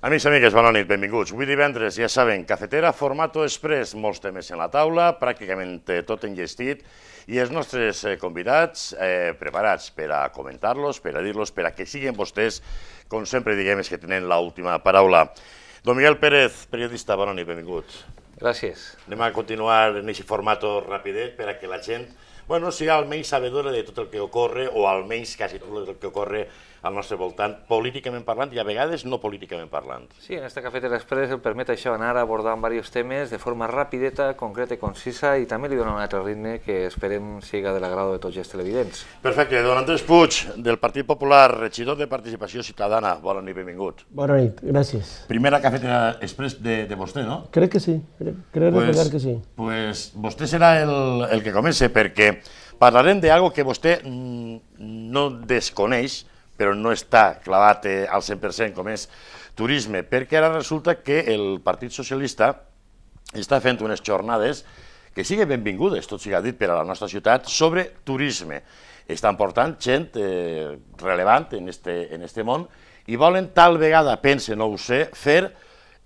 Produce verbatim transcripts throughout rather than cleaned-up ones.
Amics i amigues, bona nit, benvinguts. Avui divendres, ja saben, cafetera, formato express, molts temes en la taula, pràcticament tot enllestit, i els nostres convidats eh, preparats per a comentar-los, per a dir-los, per a que siguin vostès, com sempre diguem, és que tenen l'última paraula. Don Miguel Pérez, periodista, bona nit, benvingut. Gràcies. Anem a continuar en aquest formato rapidet per a que la gent, bueno, sigui almenys sabedora de tot el que ocorre, o almenys quasi tot el que ocorre al nostre voltant, políticament parlant i a vegades no políticament parlant. Sí, en esta Cafetera Express el permet això, anar abordant diversos temes de forma rapideta, concreta i concisa, i també li dona un altre ritme que esperem siga de l'agrado de tots els televidents. Perfecte. Don Andrés Puig, del Partit Popular, regidor de Participació Ciutadana. Bona nit, benvingut. Bona nit, gràcies. Primera Cafetera Express de, de vostè, no? Crec que sí, crec, crec pues, recordar que sí. Pues vostè serà el, el que comence, perquè parlarem d'algo que vostè no desconeix, però no està clavat al cent per cent, com és turisme, perquè ara resulta que el Partit Socialista està fent unes jornades que siguin benvingudes, tot sigui dit, per a la nostra ciutat, sobre turisme. Estan portant gent eh, relevant en este, en este món i volen tal vegada, pense, no ho sé, fer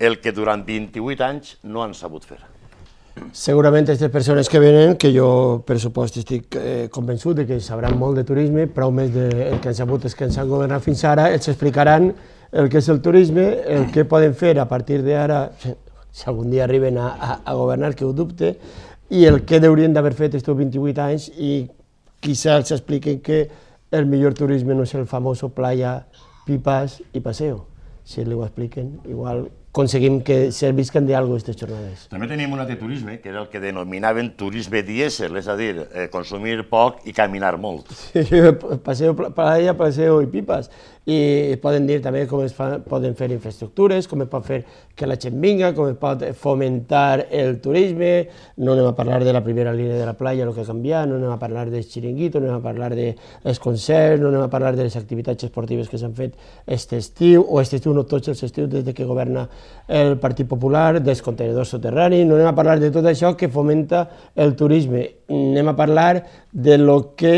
el que durant vint-i-vuit anys no han sabut fer. Segurament aquestes persones que venen, que jo per supost estic eh, convençut de que sabran molt de turisme, prou més del que han sabut és que ens han governat fins ara, els explicaran el que és el turisme, el que poden fer a partir d'ara, si algun dia arriben a, a, a governar, que ho dubte, i el que haurien d'haver fet aquests vint-i-vuit anys, i quizá els expliquen que el millor turisme no és el famoso playa, pipas i paseo. Si li ho expliquen, igual aconseguim que servisquen d'alguna cosa aquestes jornades. També teníem un altre turisme, que era el que denominaven turisme dièsel, és a dir, eh, consumir poc i caminar molt. Sí, paseo, playa, paseo i pipas. I poden dir també com es fa, poden fer infraestructures, com es pot fer que la gent vinga, com es pot fomentar el turisme. No anem a parlar de la primera línia de la playa, el que ha canviat, no anem a parlar dels xiringuitos, no anem a parlar dels concerts, no anem a parlar de les activitats esportives que s'han fet aquest estiu, o aquest estiu no tots els estius des que governa el Partit Popular, dels contenidors soterranis, no anem a parlar de tot això que fomenta el turisme, anem a parlar de lo que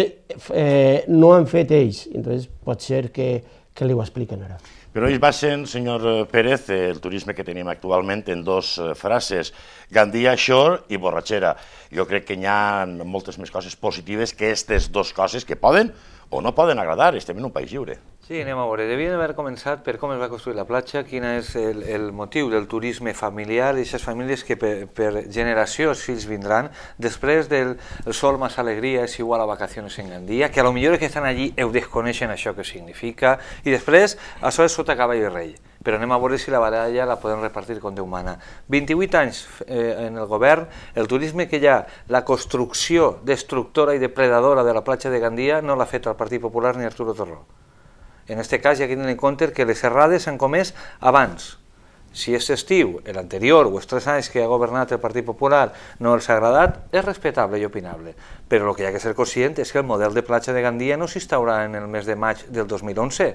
eh, no han fet ells, entonces pot ser que, que li ho expliquen ara. Però ells basen, senyor Pérez, el turisme que tenim actualment en dos frases, Gandia Shore i borratxera. Jo crec que hi ha moltes més coses positives que aquestes dues coses que poden o no poden agradar, estem en un país lliure. Sí, anem a veure. Devien haver començat per com es va construir la platja, quin és el, el motiu del turisme familiar, d'aquestes famílies que per, per generació els fills vindran, després del el sol més alegria és igual a vacacions en Gandia, que a lo millor que estan allí ho desconeixen això que significa, i després això és sota cavall i rei. Però anem a veure si la baralla la podem repartir com Déu mana. vint-i-vuit anys eh, en el govern, el turisme que hi ha, la construcció destructora i depredadora de la platja de Gandia no l'ha fet el Partit Popular ni Arturo Torró. En aquest cas hi ha que tenir en compte que les errades s'han comès abans. Si aquest estiu, l'anterior o els tres anys que ha governat el Partit Popular no els ha agradat, és respectable i opinable. Però el que hi ha que ser conscient és que el model de platja de Gandia no s'instaurà en el mes de maig del dos mil onze.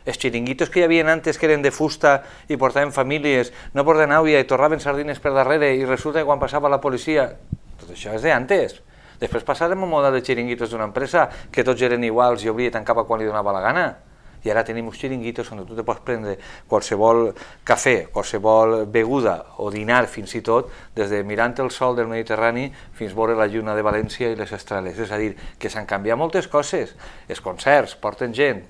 Els xiringuitos que hi havia antes que eren de fusta i portaven famílies, no portaven àvia i torraven sardines per darrere i resulta que quan passava la policia... Tot això és d'antes. Després passàrem un model de xiringuitos d'una empresa que tots eren iguals i obria i tancava quan li donava la gana. I ara tenim uns xiringuitos on tu te pots prendre qualsevol cafè, qualsevol beguda o dinar fins i tot, des de mirant el sol del Mediterrani fins veure la lluna de València i les estreles. És a dir, que s'han canviat moltes coses. Els concerts porten gent.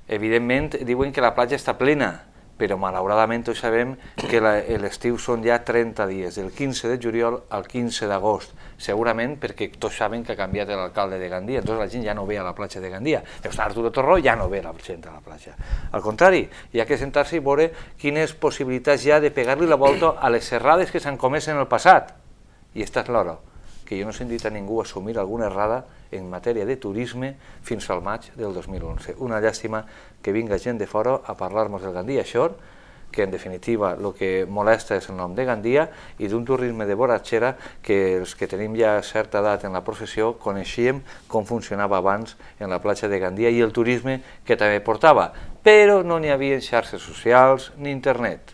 Evidentment diuen que la platja està plena, però malauradament tots sabem que l'estiu són ja trenta dies, del quinze de juliol al quinze d'agost, segurament perquè tots saben que ha canviat l'alcalde de Gandia, entonces la gent ja no ve a la platja de Gandia, però Arturo Torró ja no ve la gent a la platja. Al contrari, hi ha que sentar-se i veure quines possibilitats hi ha de pegar-li la volta a les errades que s'han comès en el passat. I esta és l'hora, que jo no he sentit a ningú assumir alguna errada en matèria de turisme fins al maig del dos mil onze. Una llàstima que vinga gent de fora a parlar-nos del Gandia Shore, que en definitiva el que molesta és el nom de Gandia, i d'un turisme de borratxera que els que tenim ja certa edat en la professió coneixíem com funcionava abans en la platja de Gandia i el turisme que també portava, però no n'hi havia xarxes socials ni internet.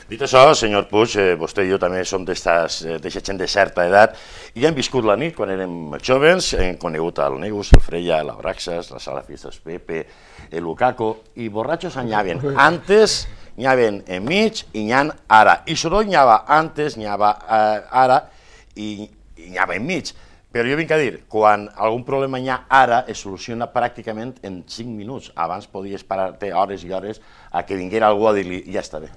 Dit això, senyor Puig, eh, vostè i jo també som d'aquesta gent de certa edat i hem viscut la nit quan érem joves, hem conegut el Negus, el Freya, la Braxas, la Sala Fiestas Pepe, el Lukaku, i borratxos anyaven antes n'hi havia enmig i n'hi ha ara. I soroll n'hi havia antes, n'hi havia ara i n'hi havia enmig. Però jo vinc a dir, quan algun problema hi ha ara, es soluciona pràcticament en cinc minuts. Abans podies parar-te hores i hores a que vinguera algú a dir-li, ja està bé.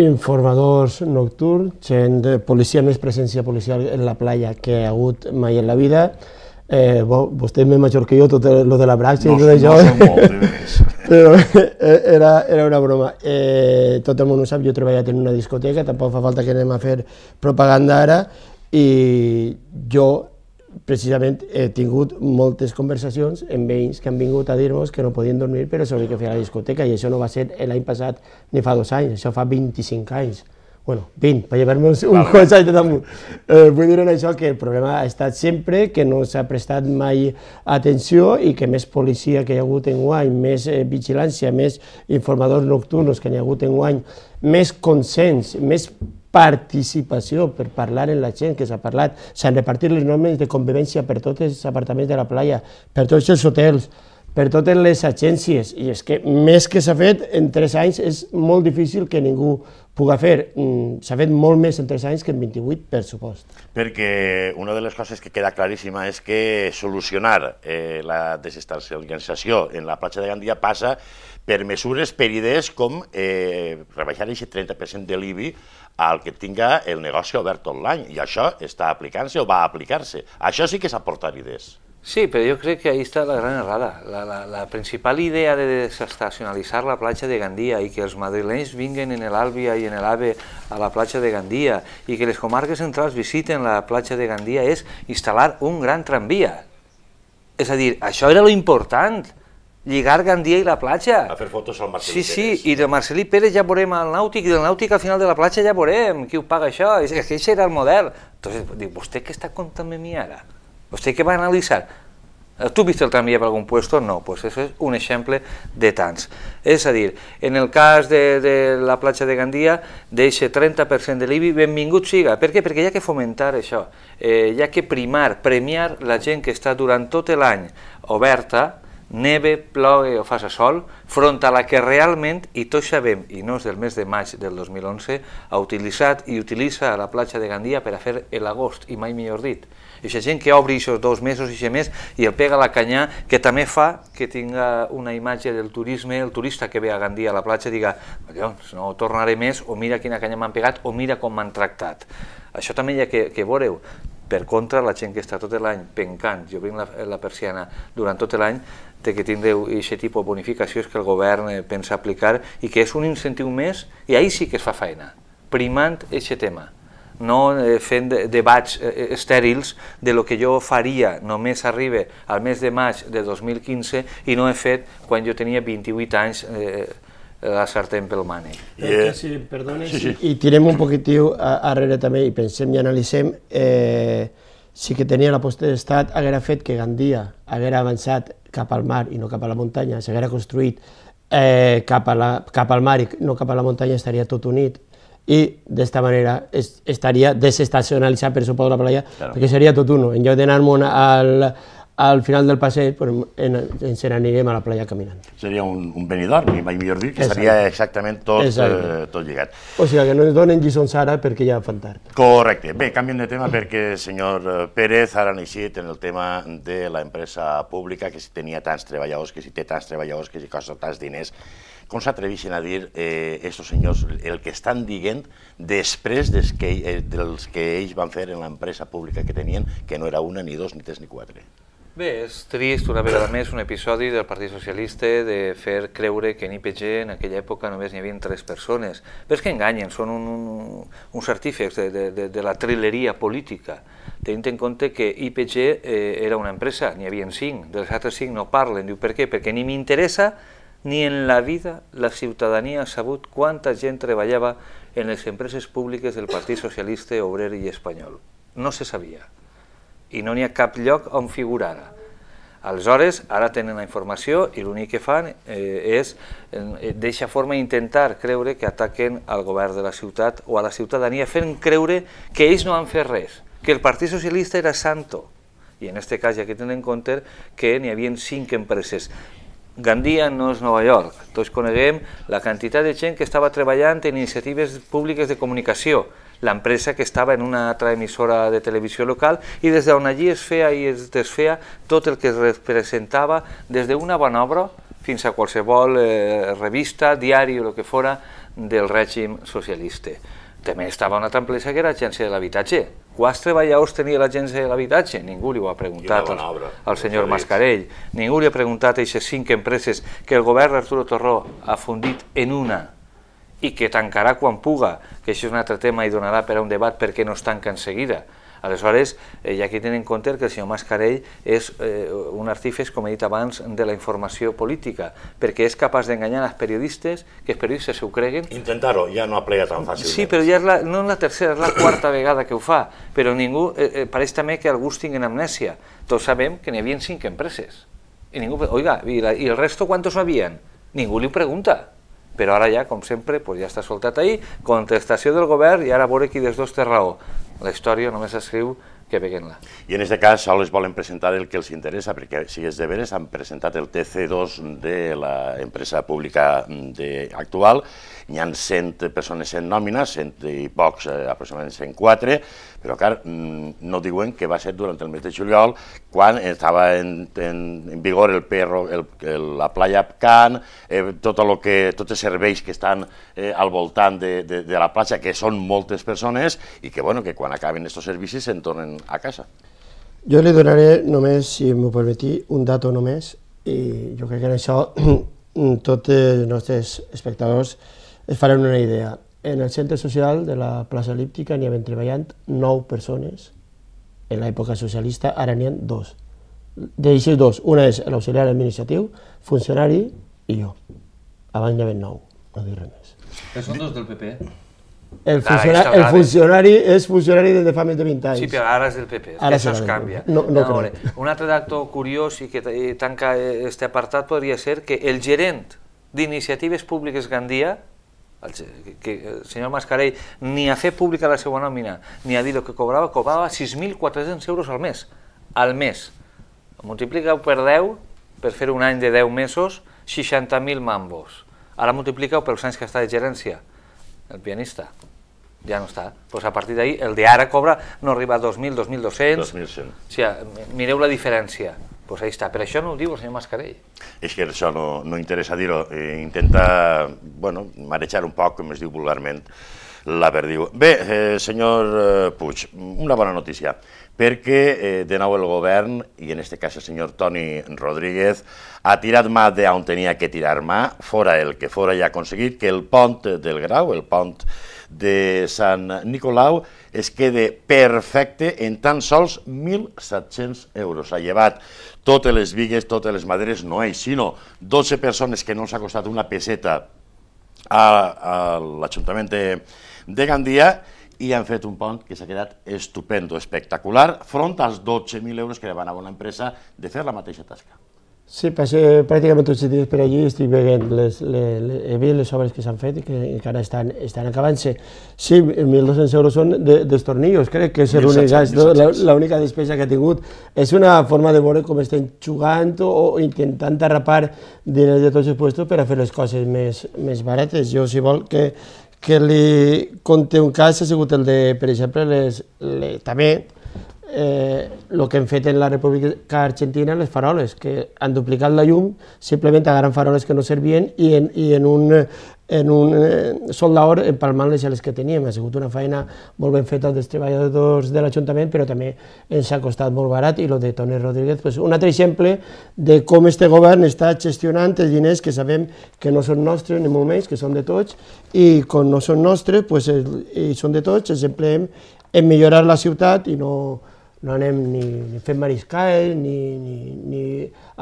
Informadors nocturns, gent de policia, més presència policial en la playa que hi ha hagut mai en la vida. Eh, bo, vostè és més major que jo, tot el de la praxi i tot això. No som molt, més. Però era, era una broma. Eh, tot el món ho sap, jo he treballat en una discoteca, tampoc fa falta que anem a fer propaganda ara, i jo precisament he tingut moltes conversacions amb veïns que han vingut a dir-nos que no podien dormir però s'haurien que fer a la discoteca, i això no va ser l'any passat ni fa dos anys, això fa vint-i-cinc anys. Bueno, vint, per llevar-me un quants anys de damunt. Eh, vull dir en això que el problema ha estat sempre, que no s'ha prestat mai atenció i que més policia que hi ha hagut enguany, més eh, vigilància, més informadors nocturns que hi ha hagut enguany, més consens, més participació per parlar amb la gent, que s'ha parlat, s'han repartit les normes de convivència per tots els apartaments de la playa, per tots els hotels, per totes les agències, i és que més que s'ha fet en tres anys és molt difícil que ningú pugui fer. S'ha fet molt més en tres anys que en vint-i-vuit, per supost. Perquè una de les coses que queda claríssima és que solucionar eh, la desestacionalització en la platja de Gandia passa per mesures per idees com eh, rebaixar aquest trenta per cent de l'I B I al que tinga el negoci obert tot l'any, i això està aplicant-se o va aplicar-se. Això sí que és aportar idees. Sí, pero yo creo que ahí está la gran errada. La, la, la principal idea de desestacionalizar la platja de Gandia y que els madrilenys vinguen en el Àlvia i en el AVE a la platja de Gandia y que les comarques centrals visiten la platja de Gandia és instal·lar un gran tramvia. És a dir, això era lo important, lligar Gandia i la platja. A fer fotos al Marcelí sí, Pérez. Sí, i del Marcelí Pérez ja veurem el nàutic, i del nàutic al final de la platja ja veurem qui ho paga això, és que aquest era el model. Entonces, dic, vostè què està contant a mi ara? ¿Usted qué va a analizar? ¿Tú viste el tranvía por algún puesto? No, pues eso es un exemple de tants. És a dir, en el cas de, de la platja de Gandia, d'eixe trenta per cent de l'I B I, benvingut siga. Per què? Perquè hi ha que fomentar això, eh, hi ha que primar, premiar la gent que està durant tot l'any oberta, neve, plogue o faça sol, front a la que realment, i tots sabem, i no és del mes de maig del dos mil onze, ha utilitzat i utilitza la platja de Gandia per a fer l'agost, i mai millor dit. I aquesta gent que obri aquests dos mesos i més i el pega a la canyà, que també fa que tinga una imatge del turisme, el turista que ve a Gandia a la platja diga, collons, no tornaré més, o mira quina canya m'han pegat, o mira com m'han tractat. Això també hi ha que, que veureu. Per contra, la gent que està tot l'any pencant, jo vinc la, la persiana durant tot l'any, de que tindreu aquest tipus de bonificacions que el govern pensa aplicar i que és un incentiu més, i ahir sí que es fa feina, primant aquest tema, no fent debats estèrils de lo que jo faria només arriba al mes de maig de dos mil quinze i no he fet quan jo tenia vint-i-vuit anys eh, la sartén pel mànec. Yeah. Si perdones, sí, sí. I tirem un poquitiu arrere també i pensem i analitzem, eh, si que tenia la potestat haguera fet que Gandia haguera avançat cap al mar i no cap a la muntanya, s'haguera construït eh, cap, a la, cap al mar i no cap a la muntanya, estaria tot unit i d'esta manera es, estaria desestacionalitzat per suposo la playa, claro. Perquè seria tot uno. En lloc d'anar-me'n al, al final del passeig, pues, en, ens n'anirem a la playa caminant. Seria un, un Benidorm, ni mai millor dir, que Exacte. Seria exactament tot, eh, tot lligat. O sigui, que no ens donen lliçons ara perquè ja fan tard. Correcte. Bé, canviem de tema perquè el senyor Pérez ara ha eixit en el tema de l'empresa pública, que si tenia tants treballadors, que si té tants treballadors, que si costa tants diners. Com s'atreveixen a dir aquests eh, senyors el que estan dient després des que, eh, dels que ells van fer en l'empresa pública que tenien, que no era una, ni dos, ni tres, ni quatre? Bé, és trist una vegada més un episodi del Partit Socialista de fer creure que en I P G en aquella època només n'hi havia tres persones. Però és que enganyen, són un, un, uns artífex de, de, de, de la trileria política, tenint en compte que I P G eh, era una empresa, n'hi havia cinc, dels altres cinc no parlen. Diu, per què? Perquè ni m'interessa ni en la vida la ciutadania ha sabut quanta gent treballava en les empreses públiques del Partit Socialista Obrer i Espanyol. No se sabia. I no n'hi ha cap lloc on figurara. Aleshores, ara tenen la informació i l'únic que fan eh, és, eh, d'eixa forma, intentar creure que ataquen al govern de la ciutat o a la ciutadania, fent creure que ells no han fet res, que el Partit Socialista era santo. I en aquest cas hi ha que tenir en compte que n'hi havia cinc empreses. Gandia no és Nova York. Tots coneguem la quantitat de gent que estava treballant en iniciatives públiques de comunicació, l'empresa que estava en una altra emissora de televisió local i des d'on allí es feia i es desfeia tot el que es representava des d'una bona obra fins a qualsevol eh, revista, diari o el que fora del règim socialista. També estava una altra empresa que era l'Agència de l'Habitatge. Quants treballadors tenia l'Agència de l'Habitatge? Ningú li ho ha preguntat al, al senyor Mascarell. Ningú li ha preguntat a aquestes cinc empreses que el govern Arturo Torró ha fundit en una i que tancarà quan puga, que això és un altre tema i donarà per a un debat perquè no es tanca en seguida. Aleshores, eh, hi ha que tenir en compte que el senyor Mascarell és eh, un artífex, com he dit abans, de la informació política, perquè és capaç d'enganyar els periodistes, que els periodistes s'ho creguen. Intentar-ho, ja no aplega tan fàcilment. Sí, però ja és la, no és la tercera, és la quarta vegada que ho fa, però ningú, eh, eh, pareix també que alguns tinguen amnèsia. Tots sabem que n'hi havia cinc empreses. I ningú, oiga, i, la, i el resto quantos havien? Ningú li pregunta. Però ara ja, com sempre, pues ja està soltat ahí, contestació del govern i ara a veure qui dels dos té raó. La història només escriu que veguem-la. I en aquest cas sols volen presentar el que els interessa, perquè si és de veres han presentat el T C dos de l'empresa pública actual, hi ha cent persones en nòmina, cent i pocs, eh, aproximadament cent quatre, però clar, no diuen que va ser durant el mes de juliol, quan estava en, en, en vigor el perro, el, el, la playa Can, eh, tot el que, tots els serveis que estan eh, al voltant de, de, de la platja, que són moltes persones, i que, bueno, que quan acaben aquests servicis se'n tornen a casa. Jo li donaré només, si m'ho permetí, un dato només, i jo crec que en això tots els nostres espectadors es faran una idea. En el centre social de la plaça Elíptica n'hi havien treballant nou persones en l'època socialista, ara n'hi ha dos. D'aixes dos, una és l'auxiliar administratiu, funcionari i jo. Abans n'hi havia nou, no dic res més. Que són dos del P P. El funcionari, el funcionari és funcionari des de fa més de vint anys. Sí, però ara és del P P, ara això es canvia. No, no no un altre dato curiós i que tanca este apartat podria ser que el gerent d'Iniciatives Públiques Gandia, el, que el senyor Mascarell, ni a fer pública la seva nòmina, ni a dir el que cobrava, cobrava sis mil quatre-cents euros al mes. Al mes. Multiplica-ho per deu, per fer un any de deu mesos, seixanta mil mambos. Ara multiplica-ho pels anys que està de gerència. El pianista ja no està. Pues a partir d'ahir, el d'ara cobra, no arriba a dos mil, dos mil dos-cents. dos mil cent. O sigui, mireu la diferència. Pues ahí està. Per això no ho diu el senyor Mascarell. És que això no, no interessa dir-ho. Eh, intenta, bueno, marejar un poc, com es diu vulgarment, la perdiu. Bé, eh, senyor eh, Puig, una bona notícia, perquè eh, de nou el govern, i en aquest cas el senyor Toni Rodríguez, ha tirat mà d'on tenia que tirar mà, fora el que fora i ha aconseguit que el pont del Grau, el pont de Sant Nicolau, es quede perfecte en tan sols mil set-cents euros. Ha llevat totes les bigues, totes les maderes, no ells, sinó dotze persones que no els ha costat una peseta a, a l'Ajuntament de, de Gandia, i han fet un pont que s'ha quedat estupendo, espectacular, front als dotze mil euros que demanava una empresa de fer la mateixa tasca. Sí, passé pràcticament tots els dies per allí i estic veient les, les, les, les, les obres que s'han fet i que encara estan, estan acabant-se. Sí, mil dos-cents euros són de, dels tornillos, crec que és l'única despesa que ha tingut. És una forma de veure com estem jugant o, o intentant arrapar diners de tots els puestos per a fer les coses més, més barates. Jo, si vol, que, que li conté un cas, ha sigut el de, per exemple, les, les, també el eh, que hem fet en la República Argentina, les faroles, que han duplicat la llum, simplement agarren faroles que no servien i en, i en un, en un eh, soldador empalmant les les que teníem. Ha sigut una feina molt ben feta dels treballadors de l'Ajuntament, però també ens ha costat molt barat, i el de Toni Rodríguez, pues, un altre exemple de com este govern està gestionant els diners que sabem que no són nostres, ni molt menys, que són de tots, i quan no són nostres, pues, i són de tots, els empleem en millorar la ciutat i no no anem ni, ni fent mariscal, ni, ni, ni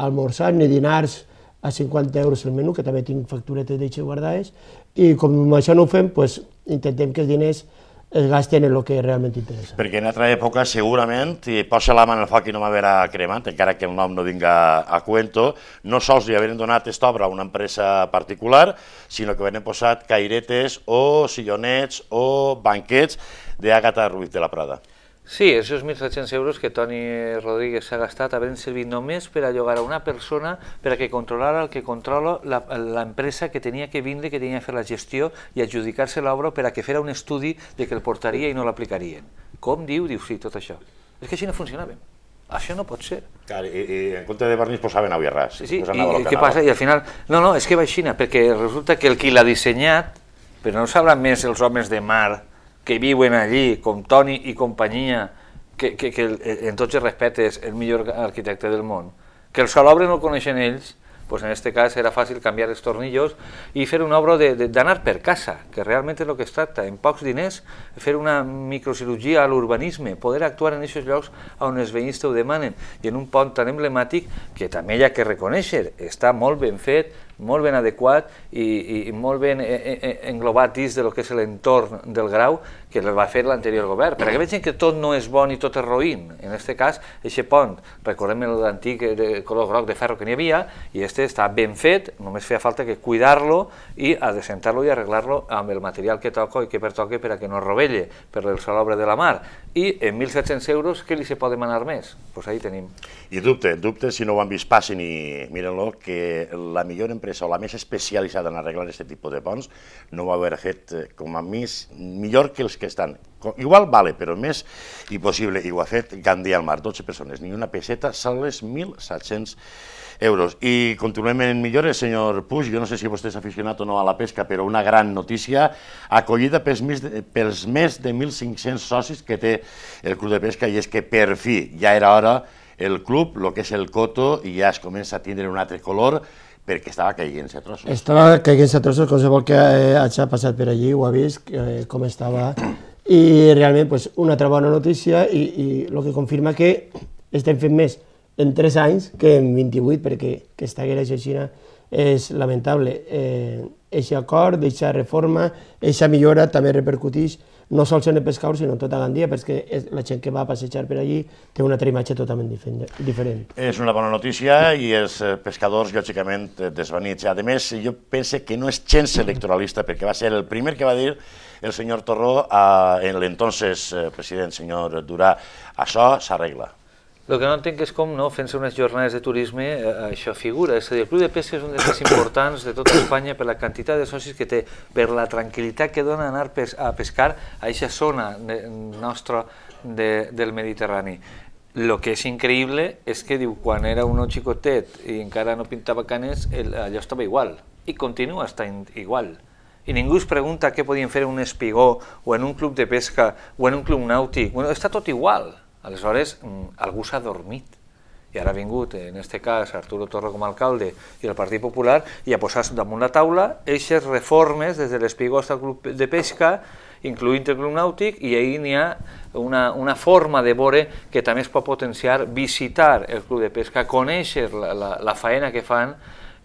almorzar, ni dinars a cinquanta euros el menú, que també tinc facturetes d'això guardades, i com això no ho fem, pues, intentem que els diners es gasten en el que realment interessa. Perquè en altra època, segurament, si posa la mà en el foc i no m'haverà cremat, encara que el nom no vinga a cuento, no sols li haveren donat aquesta obra a una empresa particular, sinó que haveren posat cairetes o sillonets o banquets d'Àgata Ruiz de la Prada. Sí, esos mil set-cents euros que Toni Rodríguez s'ha gastat havent servit només per a llogar a una persona per a que controlara el que controla l'empresa que tenia que vindre, que tenia que fer la gestió i adjudicar-se l'obra per a que fera un estudi de que el portaria i no l'aplicarien. Com diu? Diu sí, tot això. És que així no funcionava. Això no pot ser. Clar, i, i en compte de vernís posaven aigua i ras. Sí, i què passa? I al final, no, no, és que va així, perquè resulta que el qui l'ha dissenyat, però no sabran més els homes de mar que viuen allí, com Toni i companyia, que, que, que en tots els respectes el millor arquitecte del món, que el salobre no el coneixen ells, doncs en aquest cas era fàcil canviar els tornillos i fer una obra d'anar per casa, que realment és el que es tracta, en pocs diners, fer una microcirurgia a l'urbanisme, poder actuar en aquests llocs on els veïns te ho demanen, i en un pont tan emblemàtic que també hi ha que reconèixer, està molt ben fet, molt ben adequat i, i molt ben englobat dins del que és l'entorn del Grau que el va fer l'anterior govern, perquè vegin que tot no és bon i tot és roïn. En aquest cas, aquest pont, recordem l'antic de color groc de ferro que n'hi havia, i este està ben fet, només feia falta que cuidar-lo i adecentar-lo i arreglar-lo amb el material que toca i que pertoque per a que no es rovelle per el salobre de la mar. I en mil set-cents euros, què li se pot demanar més? Doncs ahí tenim. I dubte, dubte, si no ho han vist, passin i miren-lo, que la millor empresa o la més especialitzada en arreglar aquest tipus de ponts no ho va haver fet com a més millor que els que estan. Igual vale, però més impossible, i ho ha fet Gandia al Mar, dotze persones, ni una peseta, sols mil set-cents euros. I continuem en millores, senyor Puig, jo no sé si vostè és aficionat o no a la pesca, però una gran notícia, acollida pels més de, pels més de mil cinc-cents socis que té el Club de Pesca, i és que per fi ja era hora el club, el que és el coto, i ja es comença a tindre un altre color, perquè estava caient-se a trossos. Estava caient-se a trossos, qualsevol que eh, hagi passat per allí ho ha vist, eh, com estava, i realment pues, una altra bona notícia, i, i el que confirma que estem fent més en tres anys que en vint-i-vuit, perquè aquesta guerra xina és lamentable. Eixa eh, acord, eixa reforma, eixa millora també repercuteix no sols en el pescador, sinó en tota Gandia, perquè la gent que va a passejar per allí té una altra imatge totalment diferent. És una bona notícia i els pescadors, lògicament, desvanits. A més, jo penso que no és gens electoralista, perquè va ser el primer que va dir el senyor Torró a l'entonces president, senyor Durà, això s'arregla. El que no entenc és com, no, fent-se unes jornades de turisme, això figura. És a dir, el Club de Pesca és un dels més importants de tota Espanya per la quantitat de socis que té, per la tranquil·litat que dona anar a pescar a aquesta zona nostra del Mediterrani. El que és increïble és que, diu, quan era un xicotet i encara no pintava canes, allò estava igual, i continua estant igual. I ningú es pregunta què podien fer en un espigó, o en un club de pesca, o en un club nàutic. Bueno, està tot igual. Aleshores, algú s'ha dormit, i ara ha vingut, en aquest cas, Arturo Torró com a alcalde i el Partit Popular, i ha posat damunt la taula aquestes reformes des de l'espigó al club de pesca, incloent el club nàutic, i ahir n'hi ha una, una forma de veure que també es pot potenciar, visitar el club de pesca, conèixer la, la, la faena que fan,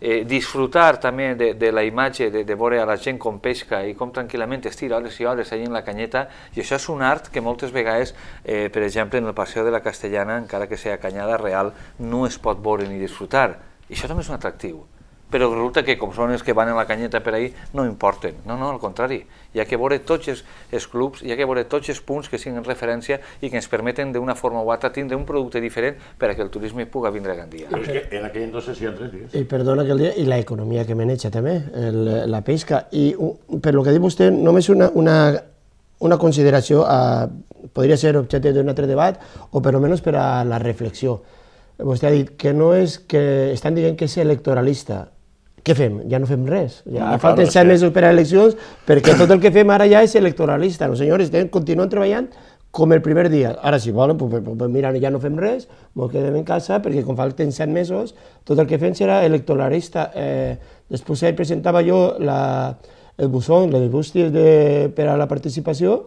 Eh, disfrutar també de, de la imatge de, de veure a la gent com pesca i com tranquil·lament es tira hores i hores allà en la canyeta, i això és un art que moltes vegades, eh, per exemple, en el Paseo de la Castellana, encara que sigui canyada real, no es pot veure ni disfrutar. I això també és un atractiu. Però resulta que com són els que van a la canyeta per ahir no importen, no, no, al contrari, hi ha que veure tots els, els clubs, hi ha que veure tots els punts que siguin referència i que ens permeten d'una forma o altra tindre un producte diferent per a que el turisme pugui vindre a Gandia. Però és que en aquell entonces hi ha tres dies. I perdona aquell dia, i l'economia que maneja també, el, la pesca, i per lo que diu vostè, només una, una, una consideració, a, podria ser objecte d'un altre debat, o per almenys per a la reflexió. Vostè ha dit que no és que estan dient que és electoralista. Què fem? Ja no fem res. Ja no, falten set mesos per a eleccions, perquè tot el que fem ara ja és electoralista. No, senyors, continuen treballant com el primer dia. Ara, si volen, pues, pues, mira, ja no fem res, ens quedem en casa, perquè com falten set mesos, tot el que fem serà electoralista. Eh, després ahir presentava jo la, el buzón, les bústies de, per a la participació,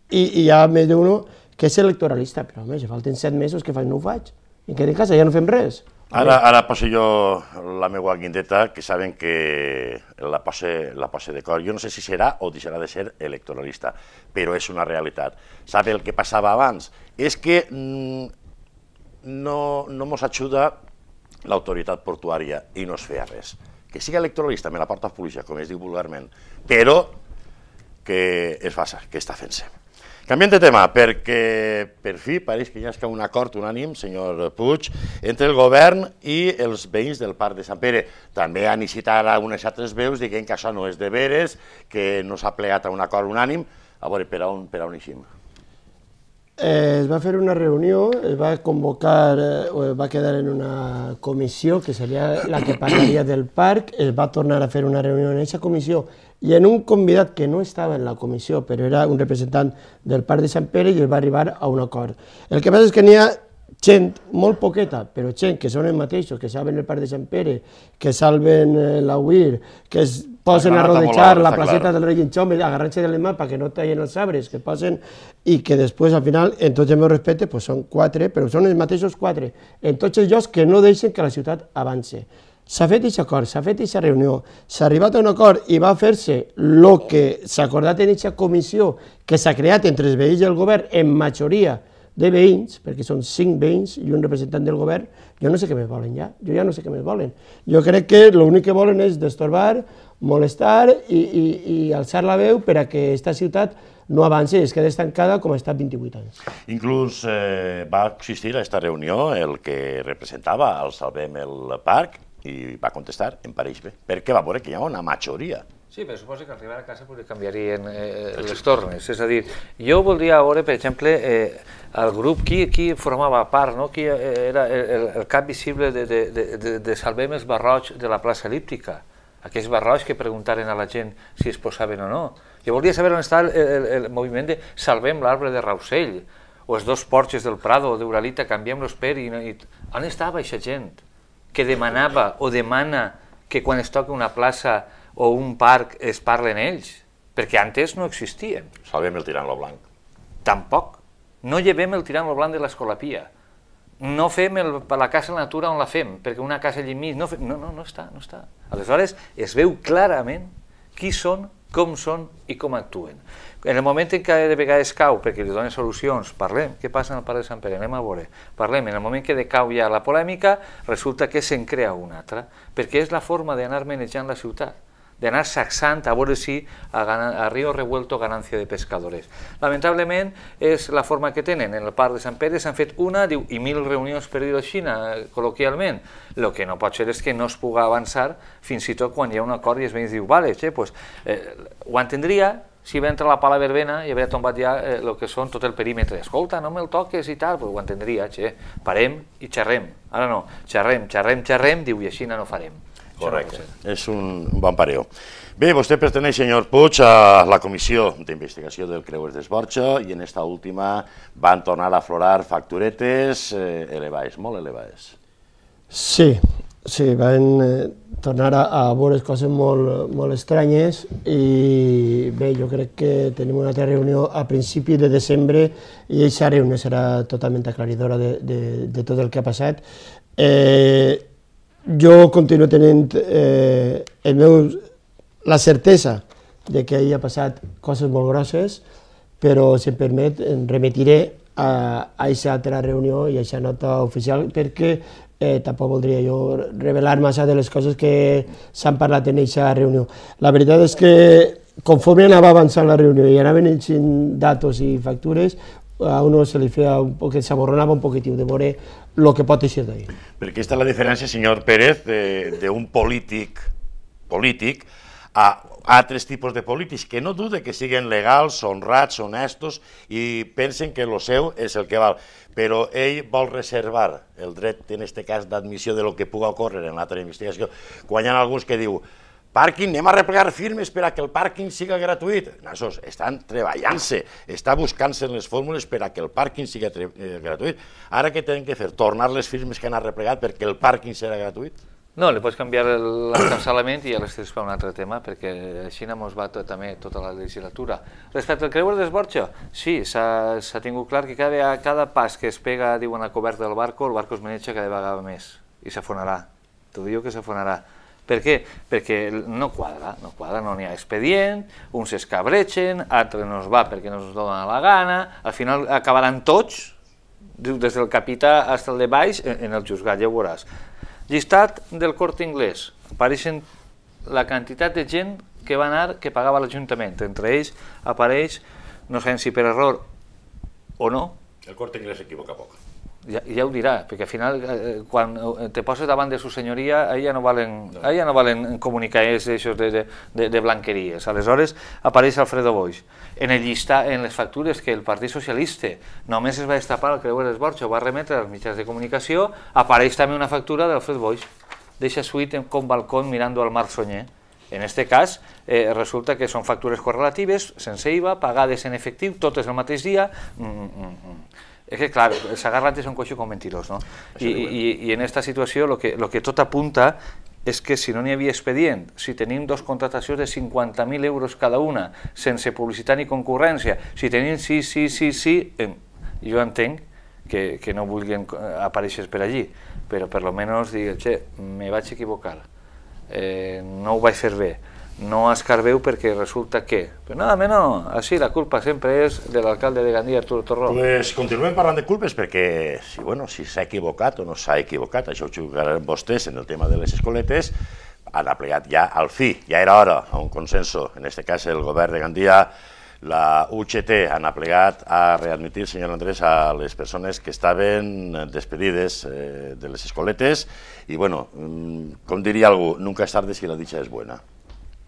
i, i hi ha més d'un que és electoralista. Però, home, si falten set mesos, què faig? No ho faig. Em quedo en casa, ja no fem res. Ara, ara poso jo la meva guindeta, que saben que la posa, la posa d'acord. Jo no sé si serà o deixarà de ser electoralista, però és una realitat. Sabe el que passava abans? És que mm, no, no mos ajuda l'autoritat portuària i no es feia res. Que sigui electoralista me la porta a policia, com es diu vulgarment, però que es faça, que està fent-se. Canviem de tema, perquè per fi pareix que hi ha un acord unànim, senyor Puig, entre el govern i els veïns del Parc de Sant Pere. També han incitat algunes altres veus dient que això no és de veres, que no s'ha plegat a un acord unànim. A veure, per on, per on eixim? Eh, es va fer una reunió, es va convocar, eh, o es va quedar en una comissió, que seria la que parlaria del parc, es va tornar a fer una reunió en aquesta comissió, i en un convidat que no estava en la comissió, però era un representant del Parc de Sant Pere, i es va arribar a un acord. El que passa és que n'hi ha gent, molt poqueta, però gent que són els mateixos, que salven el Parc de Sant Pere, que salven eh, la U I R, que es posen a rodejar la placeta del Rei Xome, agarrant-se de les mans perquè no tallen els arbres, que posen, i que després, al final, en tots el meu respecte, pues són quatre, però són els mateixos quatre, en tots els llocs que no deixen que la ciutat avance. S'ha fet aquest acord, s'ha fet aquesta reunió, s'ha arribat a un acord i va fer-se el que s'ha acordat en aquesta comissió que s'ha creat entre els veïns i el govern en majoria de veïns, perquè són cinc veïns i un representant del govern. Jo no sé què més volen ja, jo ja no sé què més volen. Jo crec que l'únic que volen és destorbar, molestar i, i, i alçar la veu per a que aquesta ciutat no avanci i es quedi estancada com ha estat vint-i-vuit anys. Inclús eh, va existir a aquesta reunió el que representava el Salvem el Parc i va contestar, em pareix bé, perquè va veure que hi ha una majoria. Sí, però suposo que al arribar a casa potser canviarien eh, les tornes. És a dir, jo voldria veure, per exemple, eh, el grup, qui, qui formava part, no? Qui era el, el cap visible de, de, de, de Salvem els barrots de la plaça Elíptica. Aquells barrots que preguntaren a la gent si es posaven o no. Jo volia saber on està el, el, el moviment de Salvem l'arbre de Rausell, o els dos porxes del Prado o d'Uralita, canviem-los per... I, i... On estava aquesta gent que demanava o demana que quan es toca una plaça o un parc es parlen ells? Perquè antes no existien. Salvem el tirant lo blanc. Tampoc. No llevem el tirant lo blanc de l'Escolapia. No fem el, la casa de natura on la fem, perquè una casa allà enmig... No, no, no, no està, no està. Aleshores es veu clarament qui són, com són i com actuen. En el moment en què de vegades cau, perquè li donen solucions, parlem, què passa en el Parc de Sant Pere, anem a veure, parlem, en el moment que decau ja la polèmica, resulta que se'n crea una altra, perquè és la forma d'anar manejant la ciutat, d'anar sacsant a veure si a, a Río Revuelto ganancia de pescadores. Lamentablement és la forma que tenen. En el Parc de Sant Pere s'han fet una, diu, i mil reunions per dir-ho així, col·loquialment. El que no pot ser és que no es pugui avançar fins i tot quan hi ha un acord i els veïns diu, vale, che, pues, eh, ho entendria si va entrar la pala verbena i havia tombat ja eh, el que són tot el perímetre. Escolta, no me'l toques i tal, pues ho entendria, che, parem i xerrem. Ara no, xerrem, xerrem, xerrem, diu, i així no farem. Correcte, és un bon pareo. Bé, vostè perteneix, senyor Puig, a la Comissió d'Investigació del Creuers d'Esborxa i en esta última van tornar a aflorar facturetes eh, elevades, molt elevades. Sí, sí, van eh, tornar a, a veure coses molt, molt estranyes i bé, jo crec que tenim una altra reunió a principi de desembre i aquesta reunió serà totalment aclaridora de, de, de tot el que ha passat. Eh, Jo continuo tenint eh, el meu, la certesa de que hi ha passat coses molt grosses, però, si em permet, em remitiré a aquesta altra reunió i a aquesta nota oficial, perquè eh, tampoc voldria jo revelar massa de les coses que s'han parlat en aquesta reunió. La veritat és que, conforme anava avançant la reunió i anaven eixint datos i factures, a uno se li feia un poc, s'aborronava un poquitiu de veure el que pot eixir d'ahir. Perquè aquesta és la diferència, senyor Pérez, d'un polític polític a altres tipus de polítics que no dude que siguin legals, honrats, honestos i pensen que el seu és el que val. Però ell vol reservar el dret, en aquest cas, d'admissió de lo que pugui ocórrer en l'altra investigació, quan hi ha alguns que diu pàrquing, anem a replegar firmes per a que el pàrquing siga gratuït. Nassos, estan treballant-se, està buscant-se les fórmules per a que el pàrquing siga eh, gratuït. Ara què tenen que fer? Tornar les firmes que han replegat perquè el pàrquing serà gratuït? No, li pots canviar l'encampçalament i ja l'estires per un altre tema, perquè així ens va tot, també tota la legislatura. Respecte al creuer d'Esborxa, sí, s'ha tingut clar que cada, cada pas que es pega, diuen, a coberta del barco, el barco es maneja cada vegada més i s'afonarà. T'ho diu que s'afonarà. Per què? Perquè no quadra, no quadra, no n'hi ha expedient, uns es cabreixen, altres no es va perquè no es donen la gana, al final acabaran tots, des del capità fins al de baix, en el juzgat, ja ho veuràs. Llistat del Corte Inglés, apareixen la quantitat de gent que va anar, que pagava l'Ajuntament, entre ells apareix, no sabem si per error o no. El Corte Inglés s'equivoca poc. Ja, ja ho dirà, perquè al final, eh, quan te poses davant de su senyoria, ahí ja no valen, no. Ahí ja no valen comunicadors de, de, de, de blanqueries. Aleshores, apareix Alfredo Boix. En el llistat, en les factures que el Partit Socialista només es va destapar al creuer d'Esborxa, ho va remetre als mitjans de comunicació, apareix també una factura d'Alfredo Boix. Deixa suite con balcón mirando al mar Soñé. En este cas, eh, resulta que són factures correlatives, sense I V A, pagades en efectiu, totes el mateix dia. Mm, mm, mm. És que, clar, els agarrantes són coixo com mentirós, no? I, i, i en aquesta situació el que, lo que tot apunta és que si no n'hi havia expedient, si tenim dos contratacions de cinquanta mil euros cada una, sense publicitat ni concurrència, si tenim sí, sí, sí, sí, eh, jo entenc que, que no vulguin aparèixer per allí, però per lo menos dir, che, me vaig equivocar, eh, no ho vaig fer bé, no escarbeu perquè resulta que... Però nada menys, així la culpa sempre és de l'alcalde de Gandia, Arturo Torró. Pues continuem parlant de culpes perquè si, bueno, si s'ha equivocat o no s'ha equivocat, això ho jugaran vostès en el tema de les escoletes, han aplegat ja al fi, ja era hora, a un consenso, en este cas el govern de Gandia, la U G T han aplegat a readmitir, senyor Andrés, a les persones que estaven despedides eh, de les escoletes i, bueno, com diria algú, nunca és tarde si la dicha és buena.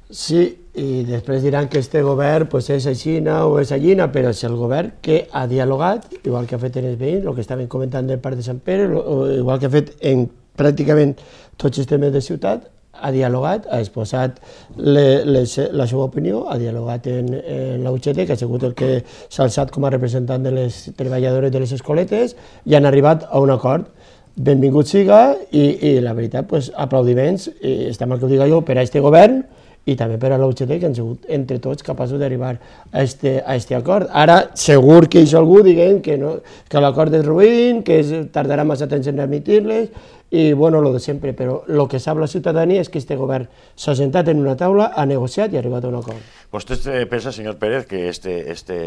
Sí, i després diran que este govern pues, és aixina o és allina, però és el govern que ha dialogat, igual que ha fet en els veïns, el que estaven comentant del Parc de Sant Pere, igual que ha fet en pràcticament tots els temes de ciutat, ha dialogat, ha exposat le, les, la seva opinió, ha dialogat en, en la U G T, que ha sigut el que s'ha alçat com a representant de les treballadores de les escoletes, i han arribat a un acord. Benvingut siga, i, i la veritat, pues, aplaudiments, i està mal que ho diga jo, per a este govern, i també per a la U G T, que han sigut entre tots capaços d'arribar a este, a este acord. Ara, segur que hi ha algú dient que, no, que l'acord és ruïn, que es, tardarà massa temps en admitir-les, i bueno, lo de sempre, però el que sap la ciutadania és que este govern s'ha sentat en una taula, ha negociat i ha arribat a un acord. ¿Vostè pensa, senyor Pérez, que este, este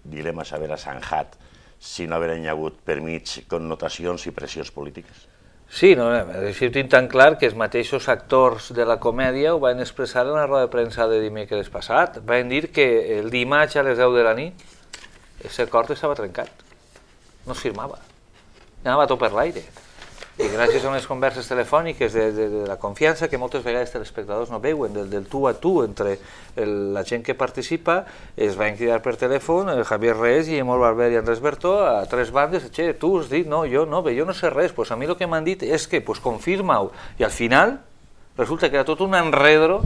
dilema s'haurà zanjat si no hagueren hagut per mig connotacions i pressions polítiques? Sí, no, així ho tinc tan clar que els mateixos actors de la comèdia ho van expressar en la roda de premsa de dimecres passat. Van dir que el dimarts a les deu de la nit aquest acord estava trencat, no es firmava, anava tot per l'aire. I gràcies a unes converses telefòniques de, de, de la confiança que moltes vegades els telespectadors no veuen, del, del tu a tu entre el, la gent que participa, es van cridar per telèfon el Javier Reyes, Guillermo Barber i Andrés Bertó a tres bandes, che, tu has dit, no, jo no, bé, jo no sé res, pues a mi el que m'han dit és que, pues confirma-ho, i al final resulta que era tot un enredro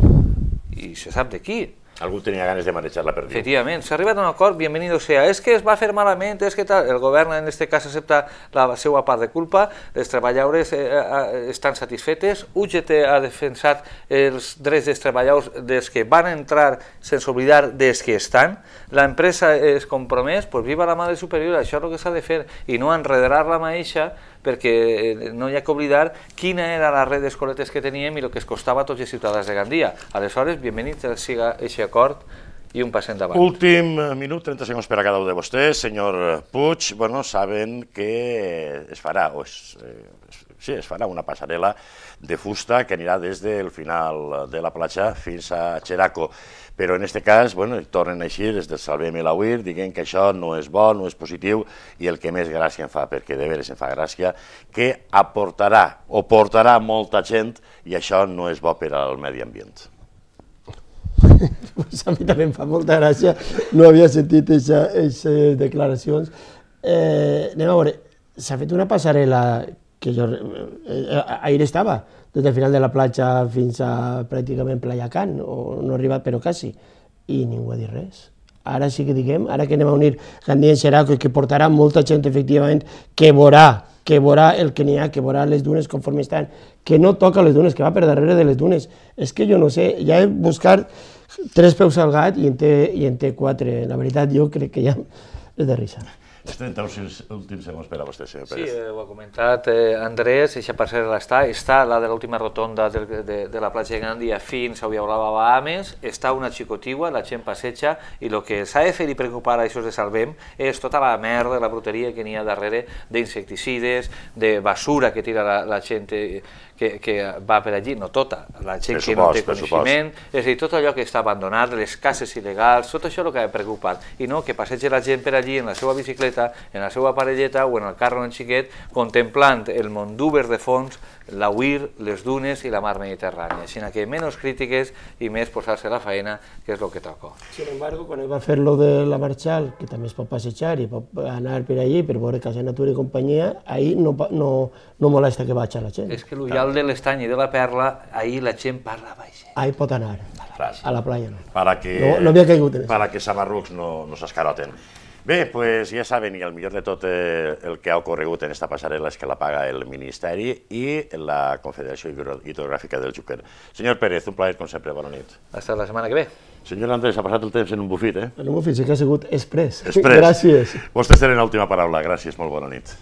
i se sap de qui. Algú tenia ganes de manejar la perdiu. Efectivament, s'ha arribat a un acord, bienvenido sea. És que es va fer malament, és que tal... El govern en aquest cas accepta la seva part de culpa, les treballadores eh, eh, estan satisfetes, U G T ha defensat els drets dels treballadors dels que van entrar sense oblidar dels que estan, l'empresa es compromès, pues viva la Madre Superior, això és el que s'ha de fer, i no enredar la maeixa, perquè no hi ha que oblidar quina era la red d'escoletes que teníem i el que es costava a tots els ciutadans de Gandia. Aleshores, benvingut siga aquest acord i un pas endavant. Últim minut, trenta segons per a cada un de vostès. Senyor Puig, bueno, saben que es farà, o es, eh, sí, es farà una passarel·la de fusta que anirà des del final de la platja fins a Xeraco. Però en aquest cas, bueno, tornen així des del Salvem el Auir, dient que això no és bo, no és positiu, i el que més gràcia em fa, perquè de veres em fa gràcia, que aportarà o portarà molta gent i això no és bo per al medi ambient. Pues a mi també em fa molta gràcia, no havia sentit aquestes declaracions. Eh, anem a veure, s'ha fet una passarel·la que jo eh, ahir estava, des del final de la platja fins a pràcticament Playa Can, o no ha arribat però quasi, i ningú ha dit res. Ara sí que diguem, ara que anem a unir Gandia i Xeraco i que portarà molta gent efectivament que veurà, que veurà el que n'hi ha, que veurà les dunes conforme estan, que no toca les dunes, que va per darrere de les dunes. És que jo no sé, ja he buscat tres peus al gat i en té, i en té quatre. La veritat, jo crec que ja és de risa. Els trenta últims segons per a vostè, senyor Sí, Pérez. eh, ho ha comentat eh, Andrés, eixa parcel·la està, està la de l'última rotonda de, de, de la platja de Gandia fins a Ullaulava Bahames, està una xicotigua, la gent passeja, i el que s'ha de fer i preocupar a això de Salvem és tota la merda, la bruteria que n'hi ha darrere d'insecticides, de basura que tira la, la gent que, que va per allí, no tota, la gent que no té coneixement, és a dir, tot allò que està abandonat, les cases il·legals, tot això és el que ha preocupat, i no que passegi la gent per allí en la seva bicicleta, en la seva parelleta o en el carro en xiquet, contemplant el Mondúber de fons, la Uir, les dunes i la mar Mediterrània, així que menys crítiques i més posar-se la faena, que és el que toca. Sin embargo, quan va fer lo de la Marchal, que també es pot passejar i pot anar per allí per veure Casa Natura i companyia, ahí no, no, no molesta que vagi la gent. És que l'ullal de l'Estany i de la Perla, ahí la gent parla baix. Ahí pot anar, a la playa no. Para que, no, no havia caigut en eso. Para que samarrucs no, no s'escaroten. Bé, pues ja saben, i el millor de tot eh, el que ha ocorregut en esta passarel·la és que la paga el Ministeri i la Confederació Hidrogràfica del Xúquer. Senyor Pérez, un plaer com sempre, bona nit. Hasta la setmana que ve. Senyor Andrés, ha passat el temps en un bufit, eh? En un bufit, sí que ha sigut express. Express. Gràcies. Vostès tenen l'última paraula, gràcies, molt bona nit.